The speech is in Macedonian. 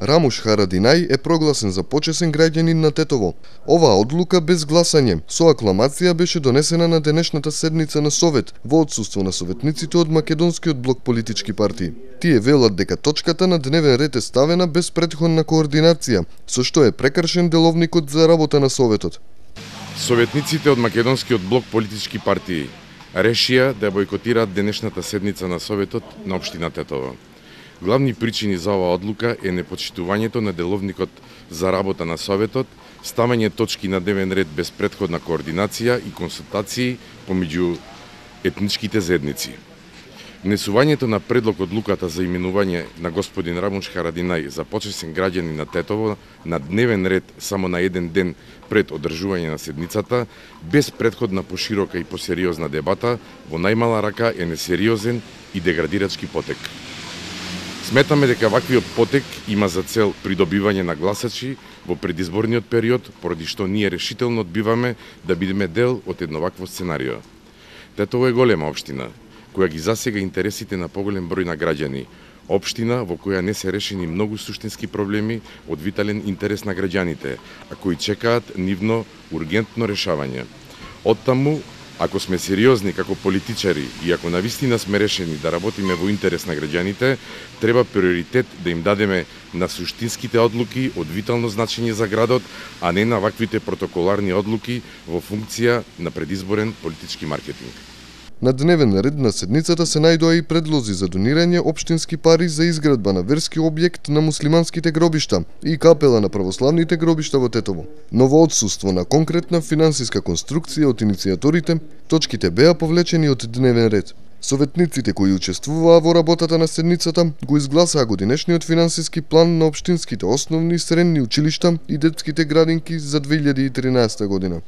Рамуш Харадинај е прогласен за почесен граѓанин на Тетово. Оваа одлука без гласање со акламација беше донесена на денешната седница на Совет во отсуство на советниците од македонскиот блок политички партии. Тие велат дека точката на дневен ред е ставена без претходна координација, со што е прекршен деловникот за работа на Советот. Советниците од македонскиот блок политички партии решија да бойкотираат денешната седница на Советот на општина Тетово. Главни причини за оваа одлука е непочитувањето на деловникот за работа на Советот, ставање точки на дневен ред без претходна координација и консултации помеѓу етничките заедници. Внесувањето на предлог одлуката за именување на господин Рамуш Харадинај за почесен граѓанин на Тетово на дневен ред само на еден ден пред одржување на седницата, без претходна поширока и посериозна дебата, во најмала рака е несериозен и деградирачки потек. Сметаме дека ваквиот потек има за цел придобивање на гласачи во предизборниот период, поради што ние решително одбиваме да бидеме дел од едно вакво сценарио. Тетово е голема општина, која ги засега интересите на поголем број на граѓани, општина во која не се решени многу суштински проблеми од витален интерес на граѓаните, а кои чекаат нивно ургентно решавање. Оттаму, ако сме сериозни како политичари и ако навистина сме решени да работиме во интерес на граѓаните, треба приоритет да им дадеме на суштинските одлуки од витално значење за градот, а не на ваквите протоколарни одлуки во функција на предизборен политички маркетинг. На дневен ред на седницата се најдоа и предлози за донирање општински пари за изградба на верски објект на муслиманските гробишта и капела на православните гробишта во Тетово. Но во отсуство на конкретна финансиска конструкција од иницијаторите, точките беа повлечени од дневен ред. Советниците кои учествуваа во работата на седницата го изгласаа годинешниот финансиски план на општинските основни и средни училишта и детските градинки за 2013 година.